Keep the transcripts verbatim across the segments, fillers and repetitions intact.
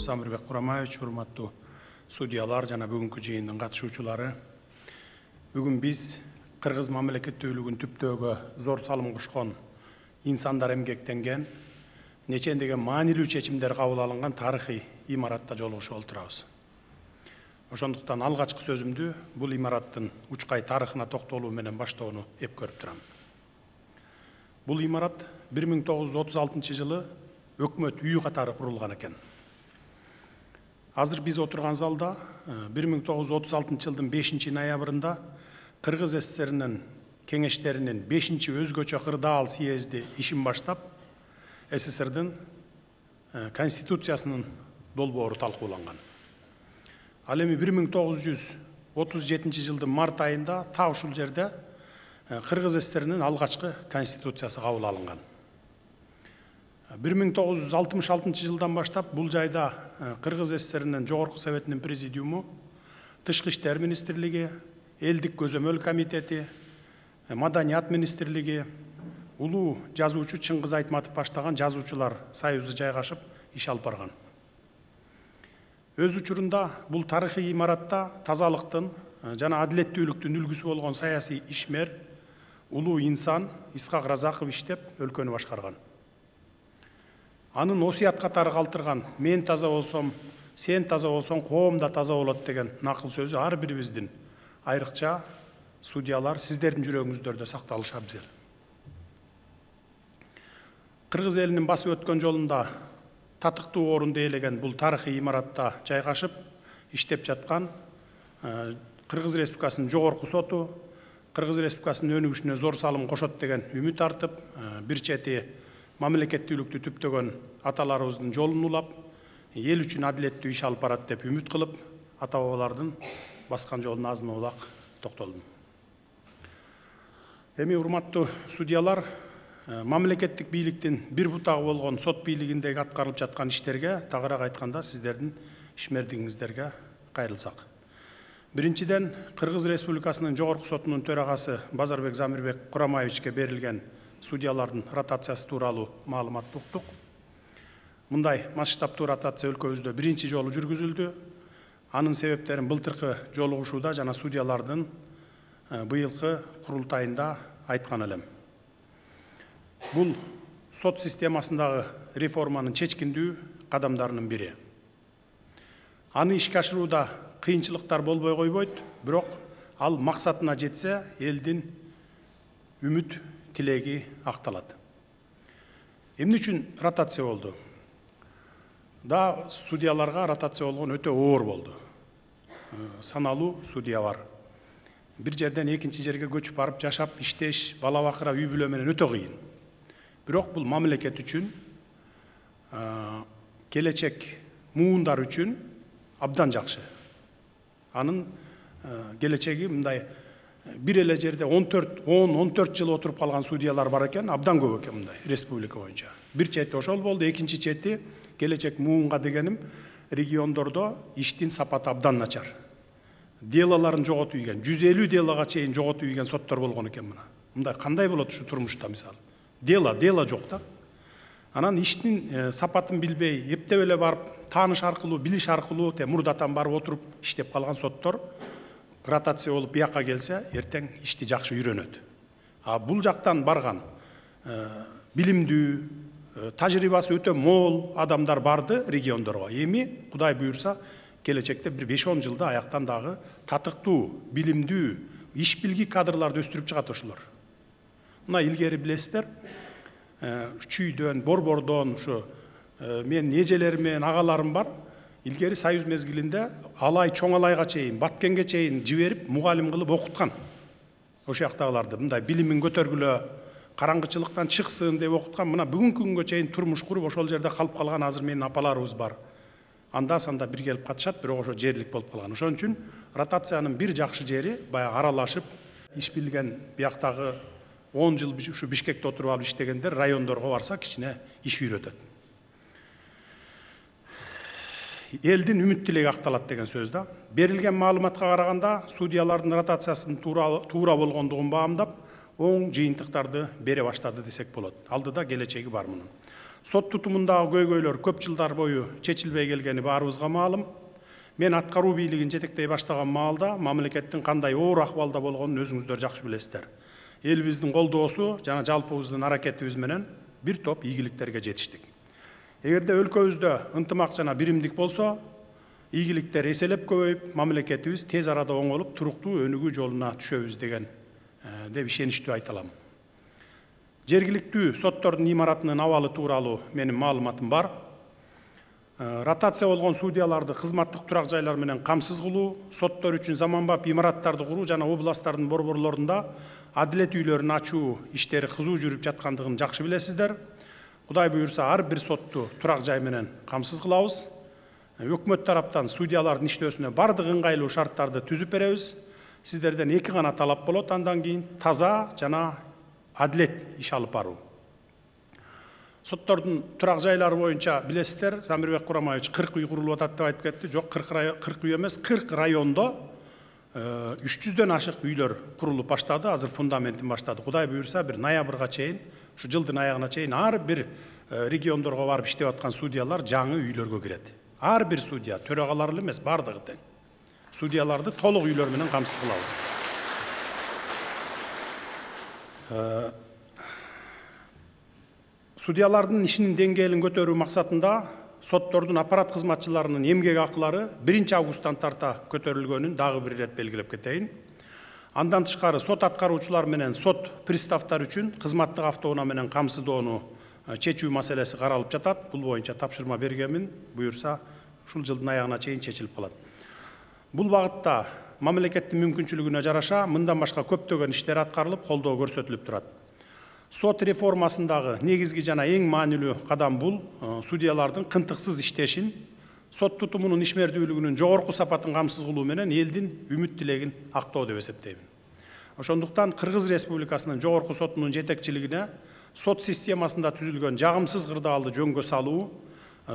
Замирбек Курамаевич, урматтуу судьялар жана бүгүнкү жыйындын катышуучулары. Бүгүн биз Кыргыз мамлекеттүүлүгүн түптөөгө зор салым кошкон, инсандар эмгектенген, нечендеген маанилүү чечимдер кабыл алынган тарыхый имаратта жолугушуп отурабыз. Ошондуктан алгачкы сөзүмдү бул имараттын учкай тарыхына токтолуу менен баштоону эп көрүп турам. Бул имарат бир миң тогуз жүз отуз алтынчы жылы өкмөт үйү катары курулган экен. Азыр биз отурган залда бир миң тогуз жүз отуз алтынчы жылдын бешинчи ноябрында Кыргыз СССРинин кеңештеринин бешинчи өзгөчө кырдаал съезди ишин баштап, СССРдин конституциясынын долбоору талкууланган. Ал эми бир миң тогуз жүз отуз жетинчи жылдын март айында так ушул жерде Кыргыз СССРинин алгачкы конституциясы кабыл алынган. бир миң тогуз жүз алтымыш алтынчы жылдан баштап бул жайда Кыргыз СССРинин Жогорку Советинин президиуму, Тышкы иштер министрлиги, Элдик көзөмөл комитети, Маданият министрлиги, улуу жазуучу Чыңгыз Айтматов баштаган жазуучулар союзу жайгашып иш алып барган. Өз учурунда бул тарыхый имаратта тазалыктын жана адилеттүүлүктүн үлгүсү болгон саясий ишмер, улуу инсан Исхак Разаков иштеп, өлкөнү башкарган. Анын осуят катары калтырган "мен таза болсом, сен таза болсоң, коом да таза болот" деген накыл сөзү ар бирибиздин, айрыкча судьялар, сиздердин жүрөгүңүздөрдө сакталышы абзел. Кыргыз элинин басып өткөн жолунда татыктуу орунду ээлеген бул тарыхый имаратта жайгашып иштеп жаткан Кыргыз Республикасынын Жогорку соту Кыргыз Республикасынын өнүгүшүнө зор салым кошот деген үмүт артып, бир чети мамлекеттүүлүктү түптөгөн аталарыбыздын жолун улап, эл үчүн адилеттүү иш алып барат деп үмүт кылып, ата бабалардын баскан жолуна азын улак токтолдум. Эми урматтуу судьялар, мамлекеттик бийликтин бир бутагы болгон сот бийлигиндеги аткарылып жаткан иштерге, тагыраак айтканда, сиздердин ишмердигиңиздерге кайрылсак. Биринчиден, Кыргыз Республикасынын Жогорку сотунун төрагасы Базарбек Замирбек Курамаевичке берилген судьялардын ротациясы тууралуу маалыматты уктук. Мындай масштабтуу ротация өлкөбүздө биринчи жолу жүргүзүлдү. Анын себептерин былтыркы жолугушууда жана судьялардын быйылкы курултайында айткан элем. Бул сот системасындагы реформанын чечкиндүү кадамдарынын бири. Аны ишке ашырууда кыйынчылыктар болбой койбойт, бирок ал максатына жетсе, элдин үмүт тилеги акталат. Эмне үчүн ротация болду? Да, судьяларга ротация болгон өтө оор болду. Саналуу судья бар. Бир жерден экинчи жерге көчүп барып жашап, иштеш, бала бакыра, үй бүлө менен өтө кыйын. Бирок бул мамлекет үчүн, келечек муундар үчүн абдан жакшы. Анын келечеги мындай бир эле жерде он төрт он төрт жыл отуруп калган судьялар бар экен, абдан көп экен мындай республика боюнча. Бир чети ошол болду, экинчи чети келечек муунга дегеним региондордо иштин сапаты абдан начар. Делолорун жоготуп ийген, жүз элүү делога чейин жоготуп ийген соттор болгон экен мына. Мындай кандай болот ушу турмушта мисалы? Дело, дело жок да. Анан иштин сапатын билбей, эптеп эле барып, тааныш аркылуу, билиш аркылуу, те мурдатан барып отуруп иштеп калган соттор ротация болуп бияка келсе, эртең ишти жакшы үйрөнөт. А бул жактан барган билимдүү, тажрыйбасы өтө мол адамдар барды региондорго. Эми Кудай буйрса, келечекте бир беш он жылда аяктан дагы татыктуу, билимдүү, иш билги кадрларды өстүрүп чыгат ошолор. Мына илгери билесиздер, Чүйдөн, Борбордон, ушу мен эжелерим менен агаларым бар. Илгери союз мезгилинде Алай, Чоң Алайга чейин, Баткенге чейин жиберип, мугалим кылып окуткан. Ошол жактагыларды мындай билимин көтөргүлө, караңгычылыктан чыксын деп окуткан. Мына бүгүнкү күнгө чейин турмуш куруп ошол жерде калып калган азыр менин апаларыбыз бар. Анда санда бир келип катышат, бирок ошо жерлик болуп калган. Ошон үчүн ротациянын бир жакшы жери баягы аралашып, иш билген бияктагы он жыл ушу Бишкекте отуруп алып иштегендер райондорго барса кичине иш үйрөтөт. Элдин үмүт тилеги акталат деген сөз да. Берилген маалыматка караганда судьялардын ротациясынын туура болгондугун баамдап, оң жыйынтыктарды бере баштады десек болот. Алдыда келечеги бар мунун. Сот тутумундагы көйгөйлөр көп жылдар бою чечилбей келгени баарыбызга маалым. Мен аткаруу бийлигин жетектей баштаган маалда мамлекеттин кандай оор акыбалда болгонун өзүңүздөр жакшы билесиздер. Элибиздин колдоосу жана жалпыбыздын аракетибиз менен бир топ ийгиликтерге жетиштик. Эгерде өлкөбүздө ынтымак жана биримдик болсо, ийгиликтер эселеп көбөйүп, мамлекетибиз тез арада оңолуп, туруктуу өнүгүү жолуна түшөбүз деген деп ишеничтүү айта алам. Жергиликтүү соттордун имаратынын абалы тууралуу менин маалыматым бар. Ротация болгон судьяларды кызматтык турак жайлар менен камсыз кылуу, соттор үчүн заманбап имараттарды куруу жана областтардын борборлорунда адилет үйлөрүн ачуу иштери кызуу жүрүп жаткандыгын жакшы билесиздер. Кудай буюрса, ар бир сотту турак жай менен камсыз кылабыз. Өкмөт тараптан судьялардын иштөөсүнө бардык ыңгайлуу шарттарды түзүп беребиз. Сиздерден эки гана талап болот, андан кийин таза жана адилет иш алып баруу. Соттордун турак жайлары боюнча билесиздер, Замирбек Курамаевич кырк үй курулуп атат деп айтып кетти. Жок, кырк үй эмес, кырк райондо үч жүздөн ашык үйлөр курулуп баштады. Азыр фундаментин баштады. Кудай буюрса, бир ноябрга чейин, ушу жылдын аягына чейин ар бир региондорго барып иштеп аткан судьялар жаңы үйлөргө кирет. Ар бир судья, төрагалар эле эмес, бардыгы тең. Судьяларды толук үйлөр менен камсыз кылабыз. Судьялардын ишинин деңгээлин көтөрүү максатында соттордун аппарат кызматчыларынын эмгек акылары биринчи августтан тарта көтөрүлгөнүн дагы бир ирет белгилеп кетейин. Андан тышкары сот аткаруучулар менен сот приставтар үчүн кызматтык автоунаа менен камсыздоону чечүү маселеси каралып жатат. Бул боюнча тапшырма бергенмин. Буюрса, ушул жылдын аягына чейин чечилип калат. Бул багытта мамлекеттин мүмкүнчүлүгүнө жараша мындан башка көптөгөн иштер аткарылып, колдоо көрсөтүлүп турат. Сот реформасындагы негизги жана эң маанилүү кадам бул судьялардын кынтыксыз иштешин, сот тутумунун ишмердүүлүгүнүн жогорку сапатын камсыз кылуу менен элдин үмүт тилегин актоо деп эсептейм. Ошондуктан Кыргыз Республикасынын жогорку сотунун жетекчилигине сот системасында түзүлгөн жагымсыз кырдаалды жөнгө салуу,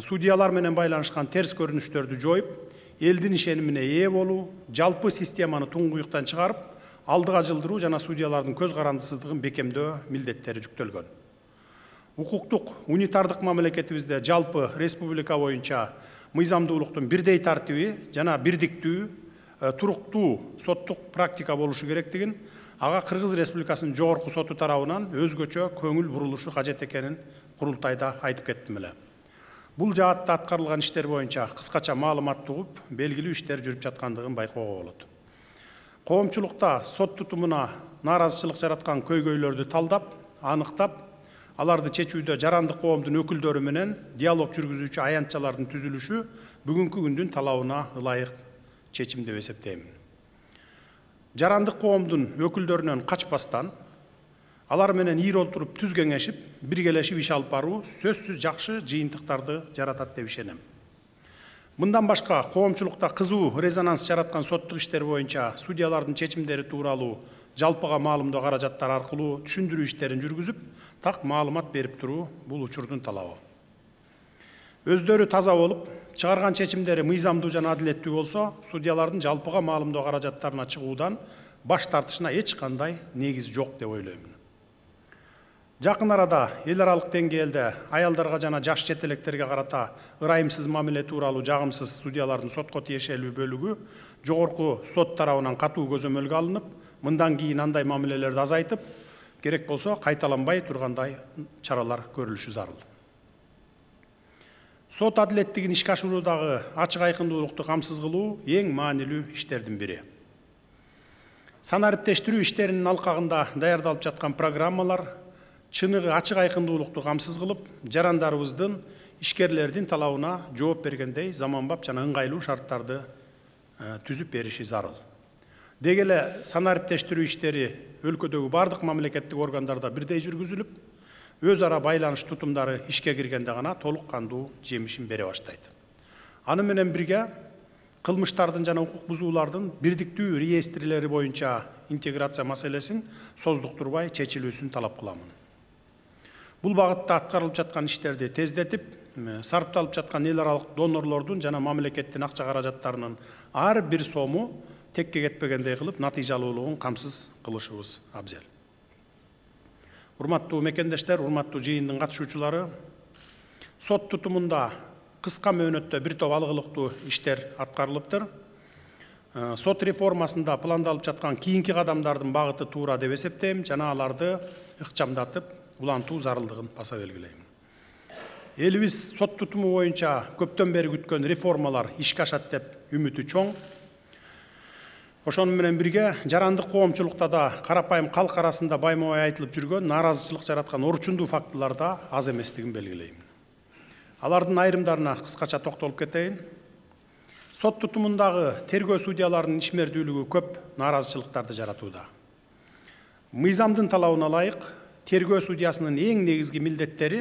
судьялар менен байланышкан терс көрүнүштөрдү жоюп, элдин ишенимине ээ болуу, жалпы системаны туңгуюктан чыгарып, алдыга жылдыруу жана судьялардын көз карандысыздыгын бекемдөө милдеттери жүктөлгөн. Укуктук унитардык мамлекетибизде жалпы республика боюнча мыйзамдуулуктун бирдей тартиби жана бирдиктүү, туруктуу соттук практика болушу керектигин, ага Кыргыз Республикасынын жогорку соту тарабынан өзгөчө көңүл бурулушу кажет экенин курултайда айтып кеттим эле. Бул жаатта аткарылган иштер боюнча кыскача маалымат тугуп, белгилүү иштер жүрүп жаткандыгын байкоого болот. Коомчулукта сот тутумуна нааразычылык жараткан көйгөйлөрдү талдап, аныктап, аларды чечүүдө жарандык коомдун өкүлдөрү менен диалог жүргүзүүчү аянтчалардын түзүлүшү бүгүнкү күндүн талабына ылайык чечим деп эсептейм. Жарандык коомдун өкүлдөрүнөн качпастан, алар менен ийир олтуруп түз кеңешип, биргелешип иш алып баруу сөзсүз жакшы жыйынтыктарды жаратат деп ишенем. Мындан башка коомчулукта кызуу резонанс жараткан соттук иштер боюнча судьялардын чечимдери тууралуу жалпыга маалымдоо каражаттар аркылуу түшүндүрүү иштерин жүргүзүп, так маалымат берип туруу бул учурдун талабы. Өздөрү таза болуп, чыгарган чечимдери мыйзамдуу жана адилеттүү болсо, судьялардын жалпыга маалымдоо каражаттарына чыгуудан баш тартышына эч кандай негиз жок деп ойлойм. Жакын арада эл аралык деңгээлде аялдарга жана жаш четелектерге карата ырайымсыз мамиле тууралуу жагымсыз судьялардын сотко тиешелүү бөлүгү жогорку сот тарабынан катуу көзөмөлгө алынып, мындан кийин андай мамилелерди азайтып, керек болсо кайталанбай тургандай чаралар көрүлүшү зарыл. Сот адилеттигин ишке ашыруудагы ачык айкындуулукту камсыз кылуу эң маанилүү иштердин бири. Санариптештирүү иштеринин алкагында даярдалып жаткан программалар чыныгы ачык айкындуулукту камсыз кылып, жарандарыбыздын, ишкерлердин талабына жооп бергендей заманбап жана ыңгайлуу шарттарды түзүп бериши зарыл. Деги эле санариптештирүү иштери өлкөдөгү бардык мамлекеттик органдарда бирдей жүргүзүлүп, өз ара байланыш тутумдары ишке киргенде гана толук кандуу жемишин бере баштайт. Аны менен бирге кылмыштардын жана укук бузуулардын бирдиктүү реестрлери боюнча интеграция маселесин создуктурбай чечилүүсүн талап кыламын. Бул багытта аткарылып жаткан иштерди тездетип, сарпталып жаткан эл аралык донорлордун жана мамлекеттин акча каражаттарынын ар бир сому текке кетпегендей кылып, натыйжалуулугун камсыз кылышыбыз абзел. Урматтуу мекендештер, урматтуу жыйындын катышуучулары, Сот тутумунда кыска мөөнөттө бир топ алгылыктуу иштер аткарылыптыр. Сот реформасында пландалып жаткан кийинки кадамдардын багыты туура деп эсептейм жана аларды ыкчамдатып улантуу зарылдыгын баса белгилейм. Элибиз сот тутуму боюнча көптөн бери күткөн реформалар ишке ашат деп үмүтү чоң. Ошону менен бирге жарандык коомчулукта да карапайым калк арасында байма-бай айтылып жүргөн нааразычылык жараткан орчундуу фактылар да аз эместигин белгилейм. Алардын айрымдарына кыскача токтолуп кетейин. Сот тутумундагы тергөө судьяларынын ишмердүүлүгү көп нааразычылыктарды жаратууда. Мыйзамдын талабына ылайык тергөө судьясынын эң негизги милдеттери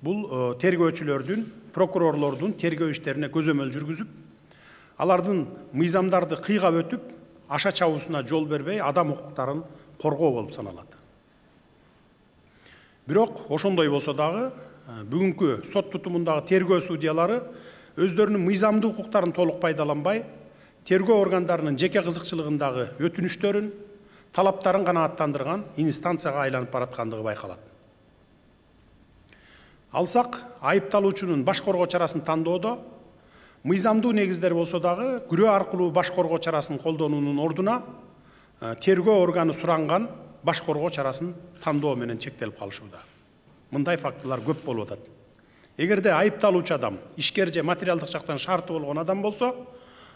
бул тергөөчүлөрдүн, прокурорлордун тергөө иштерине көзөмөл жүргүзүп, алардын мыйзамдарды кыйгап өтүп, аша чабуусуна жол бербей адам укуктарын коргоо болуп саналат. Бирок ошондой болсо дагы бүгүнкү сот тутумундагы тергөө судьялары өздөрүнүн мыйзамдуу укуктарын толук пайдаланбай, тергөө органдарынын жеке кызыкчылыгындагы өтүнүштөрүн, талаптарын канааттандырган инстанцияга айланып бараткандыгы байкалат. Алсак, айыпталуучунун баш коргоо чарасын тандоодо мыйзамдуу негиздер болсо дагы күрөө аркылуу баш коргоо чарасын колдонуунун ордуна тергөө органы суранган баш коргоо чарасын тандоо менен чектелип калышууда. Мындай фактылар көп болуп атат. Эгерде айыпталуучу адам ишкер же материалдык жактан шарты болгон адам болсо,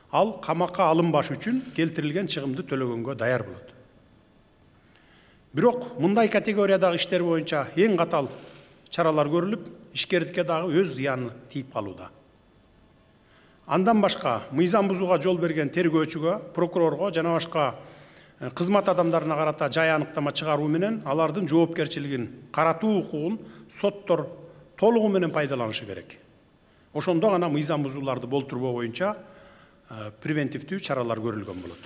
ал камакка алынбаш үчүн келтирилген чыгымды төлөгөнгө даяр болот. Бирок мындай категориядагы иштер боюнча эң катал чаралар көрүлүп, ишкердикке дагы өз зыяны тийип калууда. Андан башка мыйзам бузууга жол берген тергөөчүгө, прокурорго жана башка кызмат адамдарына карата жай аныктама чыгаруу менен алардын жоопкерчилигин каратуу укугун соттор толугу менен пайдаланышы керек. Ошондо гана мыйзам бузууларды болтурбоо боюнча превентивдүү чаралар көрүлгөн болот.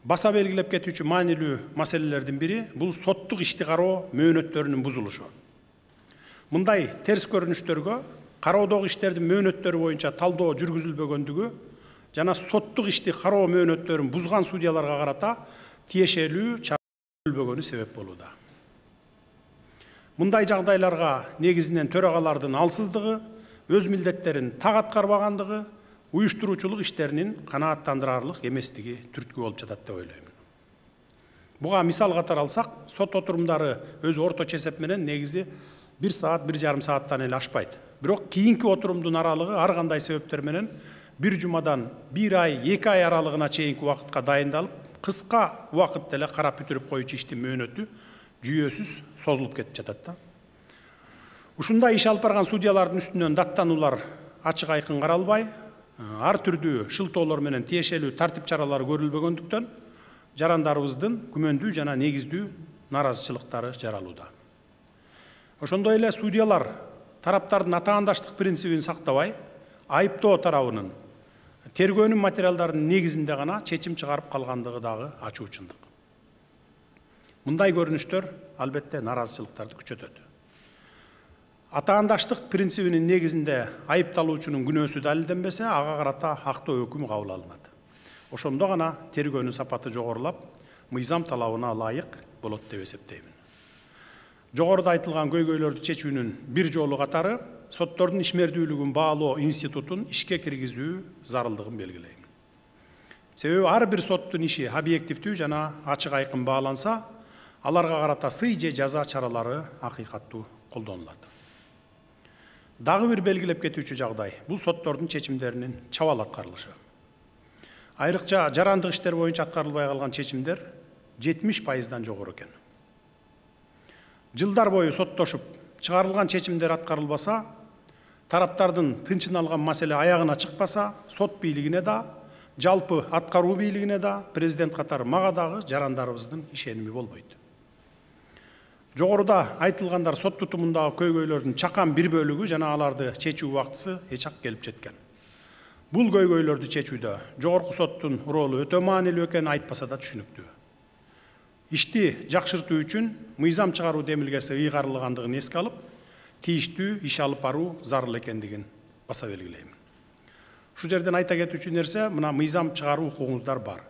Баса белгилеп кетүүчү маанилүү маселелердин бири бул соттук ишти кароо мөөнөттөрүнүн бузулушу. Мындай терс көрүнүштөргө кароодогу иштердин мөөнөттөрү боюнча талдоо жүргүзүлбөгөндүгү жана соттук ишти кароо мөөнөттөрүн бузган судьяларга карата тиешелүү чара көрүлбөгөнү себеп болууда. Мындай жагдайларга негизинен төрагалардын алсыздыгы, өз милдеттерин так аткарбагандыгы, уюштуруучулук иштеринин канааттандырарлык эместиги түрткү болуп жатат деп ойлойм. Буга мисал катары алсак, сот отурумдары өз орточо эсеп менен негизи бир саат, бир жарым сааттан эле ашпайт. Бирок кийинки отурумдун аралыгы ар кандай себептер менен бир жумадан бир ай, эки ай аралыгына чейинки убакытка дайындалып, кыска убакытта эле карап бүтүрүп коюучу иштин мөөнөтү жүйөсүз созулуп кетип жатат да. Ушундай иш алып барган судьялардын үстүнөн даттануулар ачык айкын каралбай, ар түрдүү шылтоолор менен тиешелүү тартип чаралары көрүлбөгөндүктөн жарандарыбыздын күмөндүү жана негиздүү нааразычылыктары жаралууда. Ошондой эле судьялар тараптардын атаандаштык принцибин сактабай, айыптоо тарабынын тергөөнүн материалдарынын негизинде гана чечим чыгарып калгандыгы дагы ачуу чындык. Мындай көрүнүштөр албетте нааразычылыктарды күчөтөт. Атаандаштык принцибинин негизинде айыпталуучунун күнөөсү далилденбесе, ага карата актоо өкүм кабыл алынат. Ошондо гана тергөөнүн сапаты жогорулап, мыйзам талабына ылайык болот деп эсептеймин. Жогоруда айтылган көйгөйлөрдү чечүүнүн бир жолу катары соттордун ишмердүүлүгүн баалоо институтун ишке киргизүү зарылдыгын белгилейм. Себеби ар бир соттун иши объективдүү жана ачык айкын бааланса, аларга карата сый же жаза чаралары акыйкаттуу колдонулат. Дагы бир белгилеп кетүүчү жагдай бул соттордун чечимдеринин чабал аткарылышы. Айрыкча жарандык иштер боюнча аткарылбай калган чечимдер жетимиш пайыздан жогору экен. Жылдар бою соттошуп, чыгарылган чечимдер аткарылбаса, тараптардын тынчын алган маселе аягына чыкпаса, сот бийлигине да, жалпы аткаруу бийлигине да, президент катары мага дагы жарандарыбыздын ишеними болбойт. Жогоруда айтылгандар сот тутумундагы көйгөйлөрдүн чакан бир бөлүгү жана аларды чечүү убактысы эчак келип жеткен. Бул көйгөйлөрдү чечүүдө жогорку соттун ролу өтө маанилүү экени айтпаса да түшүнүктүү. Ишти жакшыртуу үчүн мыйзам чыгаруу демилгеси ыйгарылгандыгын эске алып, тийиштүү иш алып баруу зарыл экендигин баса белгилейм. Ушул жерден айта кетүүчү нерсе, мына мыйзам чыгаруу укугуңуздар бар.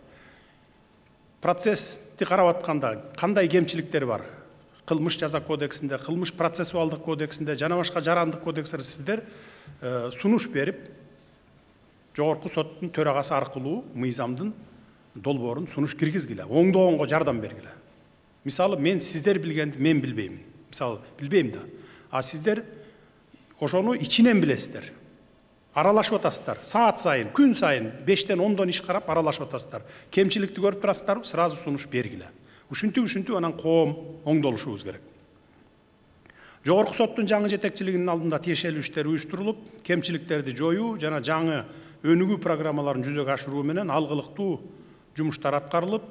Процессти карап атканда кандай кемчиликтер бар? кылмыш жаза кодексинде, кылмыш процессуалдык кодексинде жана башка жарандык кодекстерде сиздер сунуш берип, жогорку соттун төрагасы аркылуу мыйзамдын долбоорун сунуш киргизгиле, оңдогонго жардам бергиле. Мисалы, мен сиздер билгенди мен билбеймин. Мисалы, билбейм да. А сиздер ошону ичинен билесиздер. Аралашып атасыздар. Саат сайын, күн сайын бештен ондон иш карап аралашып атасыздар. Кемчиликти көрүп турасыздар, сразу сунуш бергиле. Ушинтип ушинтип анан коом оңдолушубуз керек. Жогорку соттун жаңы жетекчилигинин алдында тиешелүү иштер уюштурулуп, кемчиликтерди жоюу жана жаңы өнүгүү программаларын жүзөгө ашыруу менен алгылыктуу жумуштар аткарылып,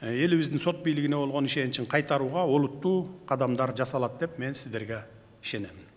элибиздин сот бийлигине болгон ишеничин кайтарууга олуттуу кадамдар жасалат деп мен сиздерге ишенем.